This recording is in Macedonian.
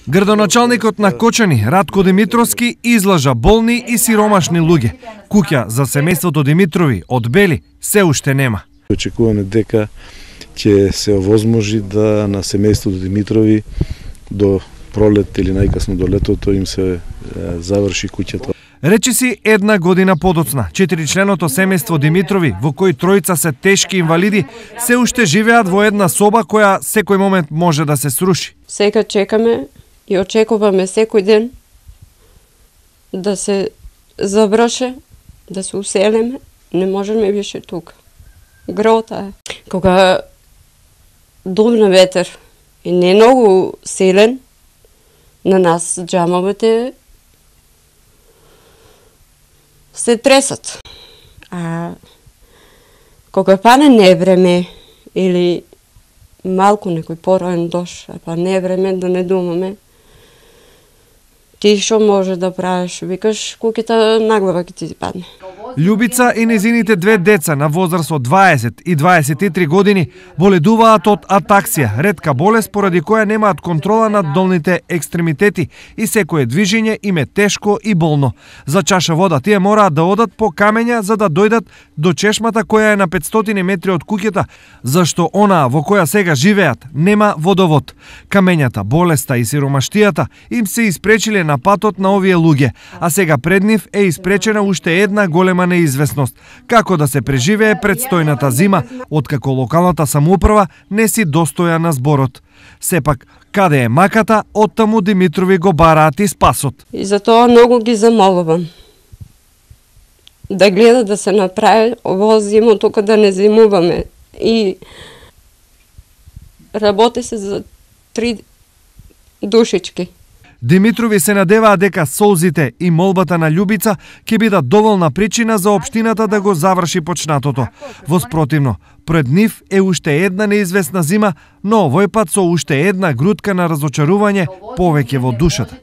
Градоначалникот на Кочани, Радко Димитровски, излажа болни и сиромашни луѓе. Куќа за семејството Димитрови од Бели се уште нема. Очекуваме дека ќе се овозможи да на семејството Димитрови до пролет или најкасно до летото им се заврши куќата. Речиси една година подоцна, 4-членото семејство Димитрови, во кој тројца се тешки инвалиди, се уште живеат во една соба која секој момент може да се сруши. Сега чекаме и очекуваме секој ден да се заврши, да се уселиме, не можеме више тука. Грота е. Кога дувна ветер и не многу силен, на нас џамовите се тресат. А кога пане невреме или малку некој пороен дош, па невреме да не думаме, ти што може да правиш? Викаш, куќата наглава ќе ти падне. Љубица и незините две деца на возраст од 20 и 23 години боледуваат од атаксија, ретка болест поради која немаат контрола над долните екстремитети и секое движење им е тешко и болно. За чаша вода тие мораат да одат по камења за да дојдат до чешмата која е на 500 метри од куќата, зашто онаа во која сега живеат нема водовод. Камењата, болеста и сиромаштијата им се испречиле на патот на овие луѓе, а сега пред нив е испречена уште една голема неизвестност, како да се преживее предстојната зима, откако локалната самоуправа не си достоја на зборот. Сепак, каде е маката, оттаму Димитрови го бараат и спасот. И затоа многу ги замолувам да гледа да се направи ово зимо, тука да не зимуваме. И работи се за 3 душички. Димитрови се надеваат дека солзите и молбата на Љубица ќе бидат доволна причина за општината да го заврши почнатото. Воспротивно, пред нив е уште една неизвестна зима, но овој пат со уште една грудка на разочарување повеќе во душата.